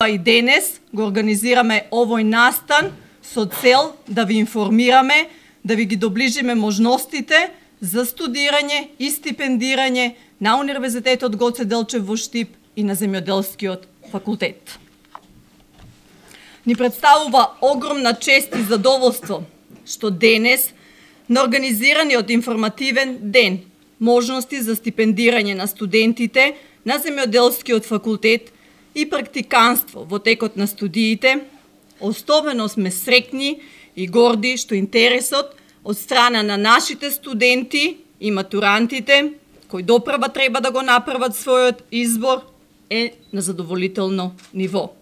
И денес го организираме овој настан со цел да ви информираме, да ви ги доближиме можностите за студирање и стипендирање на Универзитетот Гоце Делчев во Штип и на Земјоделскиот факултет. Ни представува огромна чест и задоволство што денес на организираниот информативен ден можности за стипендирање на студентите на Земјоделскиот факултет и практиканство во текот на студиите, особено сме среќни и горди што интересот од страна на нашите студенти и матурантите, кои допрва треба да го направат својот избор, е на задоволително ниво.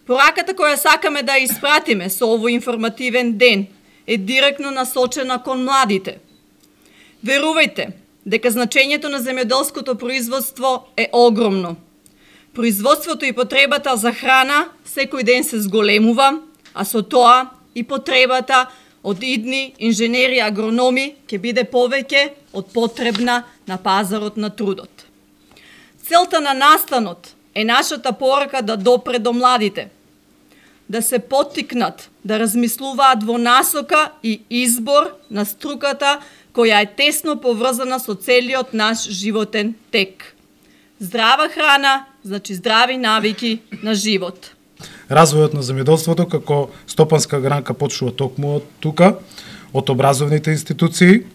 Пораката која сакаме да испратиме со овој информативен ден е директно насочена кон младите. Верувајте дека значењето на земјоделското производство е огромно. Производството и потребата за храна секој ден се зголемува, а со тоа и потребата од идни инженери и агрономи ќе биде повеќе од потребна на пазарот на трудот. Целта на настанот е нашата порака да допре до младите, да се поттикнат, да размислуваат во насока и избор на струката која е тесно поврзана со целиот наш животен тек. Здрава храна, значи здрави навики на живот. Развојот на земјоделството како стопанска гранка почнува токму од тука, од образовните институции.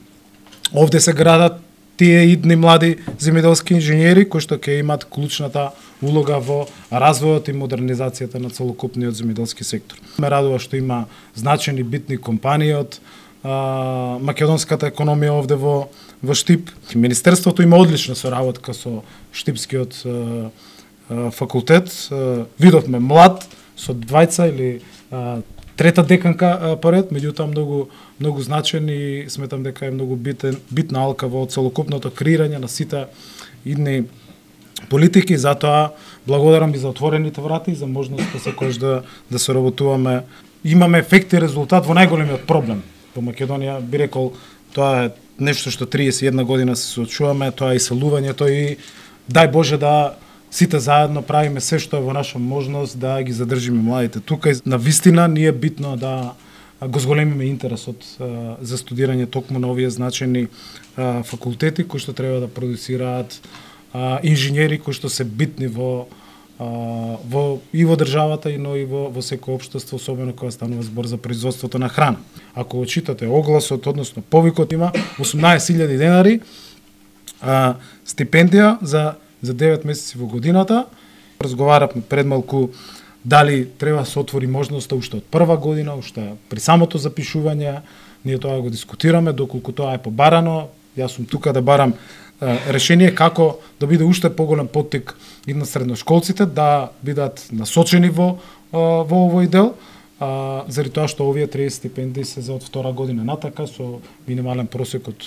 Овде се градат тие идни млади земјоделски инженери кои што ќе имат клучната улога во развојот и модернизацијата на целокупниот земјоделски сектор. Ме радува што има значени битни компании од македонската економија овде во Штип. Министерството има одлична соработка со Штипскиот факултет. Видовме млад со двајца или трета деканка поред, меѓутоа многу значен и сметам дека е многу битна алка во целокупното креирање на сите идни политики, затоа благодарам и за отворените врати и за можноста секогаш да се работуваме. Имаме ефект и резултат во најголемиот проблем во Македонија, би рекол, тоа е нешто што 31 година се соочуваме, тоа е иселувањето и дај Боже да сите заедно правиме се што е во наша можност да ги задржиме младите тука. На вистина ни е битно да го зголемиме интересот за студирање токму на овие значени факултети кои што треба да продуцираат инженери кои што се битни и во државата и во секој општество, особено кога станува збор за производството на храна. Ако читате огласот, односно повикот, има 18.000 денари стипендија за 9 месеци во годината. Разговаравме пред малку дали треба да се отвори можноста уште од прва година, уште при самото запишување. Ние тоа го дискутираме, доколку тоа е побарано. Јас сум тука да барам решение како да биде уште поголем поттик и на средношколците да бидат насочени во овој дел, заради тоа што овие 30 стипендии се за од втора година натака со минимален просек од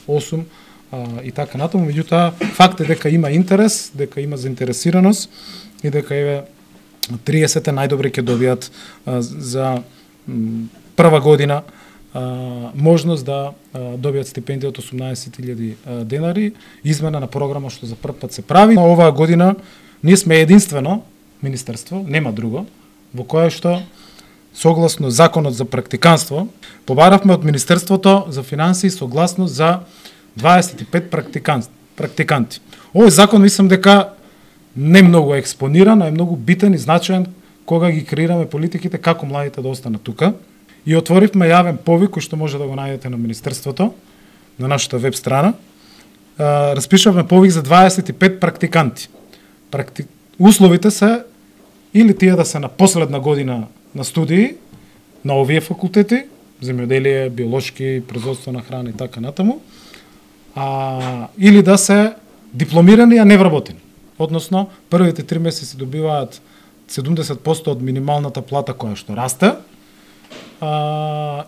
8 и така натаму. Меѓутоа факт е дека има интерес, дека има заинтересираност и дека еве 30 најдобри ќе добијат за прва година можност да добијат стипендија од 18.000 денари, измена на програма што за прв пат се прави. Оваа година ние сме единствено министерство, нема друго, во кое што согласно законот за практиканство побаравме од Министерството за финансии согласност за 25 практиканти. Овој закон мислам дека не многу експониран, а е многу битен и значаен кога ги креираме политиките како младите да останат тука. И отворивме јавен повик кој што може да го најдете на Министерството, на нашата веб страна. Распишавме повик за 25 практиканти. Условите се или тие да се на последна година на студии на овие факултети, земјоделие, биолошки, производство на храна и така натаму, или да се дипломирани, а не вработени. Односно, првите 3 месеци добиваат 70% од минималната плата која што расте,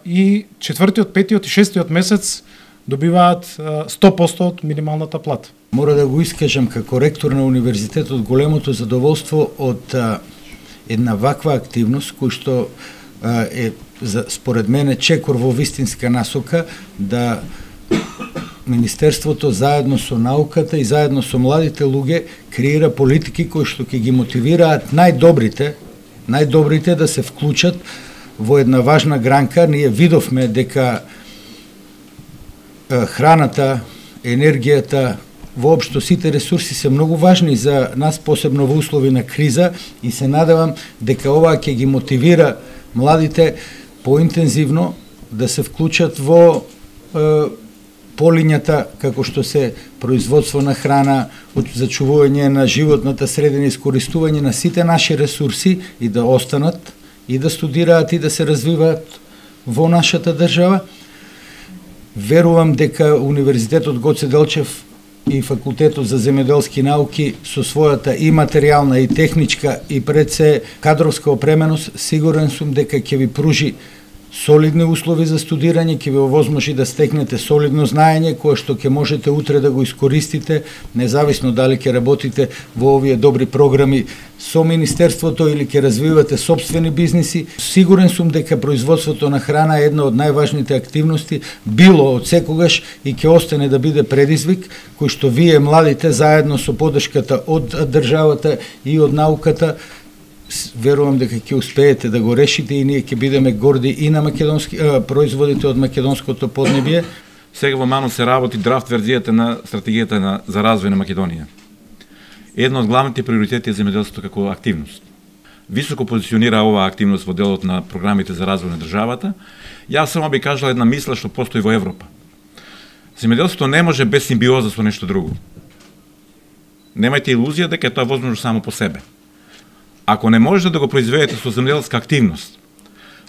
и 4-тиот, 5-тиот и 6-тиот месец добиваат 100% од минималната плата. Мора да го искажам како ректор на универзитетот големото задоволство од една ваква активност кој што е според мене чекор во вистинска насока да Министерството заедно со науката и заедно со младите луѓе креира политики кои што ќе ги мотивираат најдобрите да се вклучат во една важна гранка. Ние видовме дека храната, енергијата, воопшто сите ресурси се многу важни за нас, посебно во услови на криза, и се надевам дека ова ќе ги мотивира младите поинтензивно да се вклучат во полињата како што се производство на храна, зачувување на животната средина, искористување на сите наши ресурси и да останат и да студираат и да се развиваат во нашата држава. Верувам дека Универзитетот Гоце Делчев и Факултетот за земјоделски науки со својата и материјална и техничка и пред се кадровска опременост, сигурен сум дека ќе ви пружи солидни услови за студирање, ќе ви овозможи да стекнете солидно знаење кое што ќе можете утре да го искористите, независно дали ќе работите во овие добри програми со Министерството или ќе развивате собствени бизниси. Сигурен сум дека производството на храна е една од најважните активности, било од секогаш и ќе остане да биде предизвик, кој што вие младите заедно со поддршката од државата и од науката, верувам дека ќе успеете да го решите и ние ќе бидеме горди и на производите од македонското поднебие. Сега во МАНО се работи драфт верзијата на стратегијата за развој на Македонија. Едно од главните приоритети е земјоделството како активност. Високо позиционира оваа активност во делот на програмите за развој на државата. Јас само би кажала една мисла што постои во Европа. Земјоделството не може без симбиоза со нешто друго. Немајте илузија дека е тоа возможно само по себе. Ако не можете да го произведете со земјоделска активност,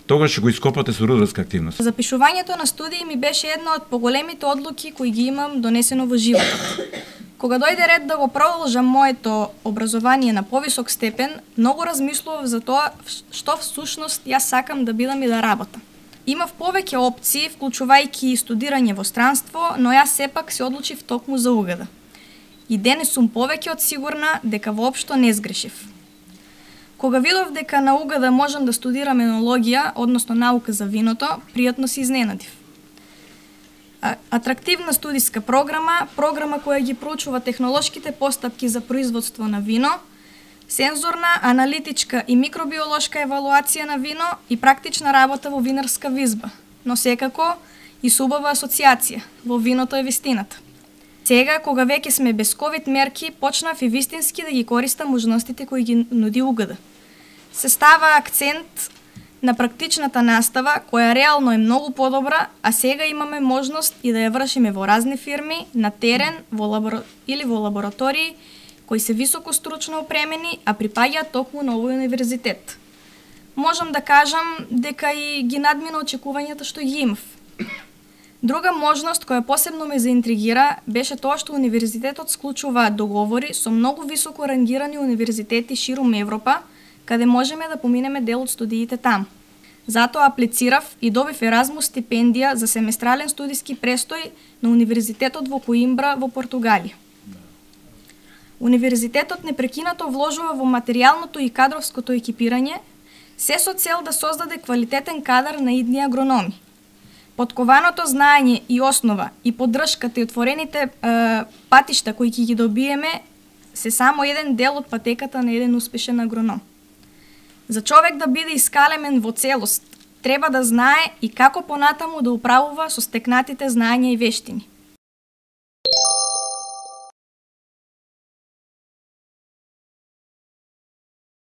тогаш ќе го ископате со рударска активност. Запишувањето на студии ми беше една од поголемите одлуки кои ги имам донесено во животот. Кога дојде ред да го продолжам моето образование на повисок степен, многу размислував за тоа што всушност јас сакам да бидам и да работам. Имав повеќе опции, вклучувајќи студирање во странство, но јас сепак се одлучив токму за УГД. И денес сум повеќе од сигурна дека воопшто не сгрешив. Кога видов дека на УГД можам да студирам енологија, односно наука за виното, пријатно се изненадив. Атрактивна студиска програма која ги проучува технолошките постапки за производство на вино, сензорна, аналитичка и микробиолошка евалуација на вино и практична работа во винарска визба, но секако и субава асоциација, во виното е вистината. Сега, кога веќе сме без ковид мерки, почнав и вистински да ги користам можностите кои ги нуди УГД. Се става акцент на практичната настава, која реално е многу подобра, а сега имаме можност и да ја вршиме во разни фирми, на терен, или во лаборатории, кои се високо стручно опремени, а припаѓаат токму на овој универзитет. Можам да кажам дека и ги надмина очекувањата што ги имав. Друга можност која посебно ме заинтригира беше тоа што универзитетот склучува договори со многу високо рангирани универзитети ширум Европа, каде можеме да поминеме дел од студиите там. Затоа аплицирав и добив Еразмус стипендија за семестрален студиски престој на Универзитетот во Коимбра во Португалија. Универзитетот непрекинато вложува во материјалното и кадровското екипирање, се со цел да создаде квалитетен кадар на идни агрономи. Подкованото знаење и основа и поддршката и отворените патишта кои ќе ги добиеме се само еден дел од патеката на еден успешен агроном. За човек да биде искалемен во целост, треба да знае и како понатаму да управува со стекнатите знаења и вештини.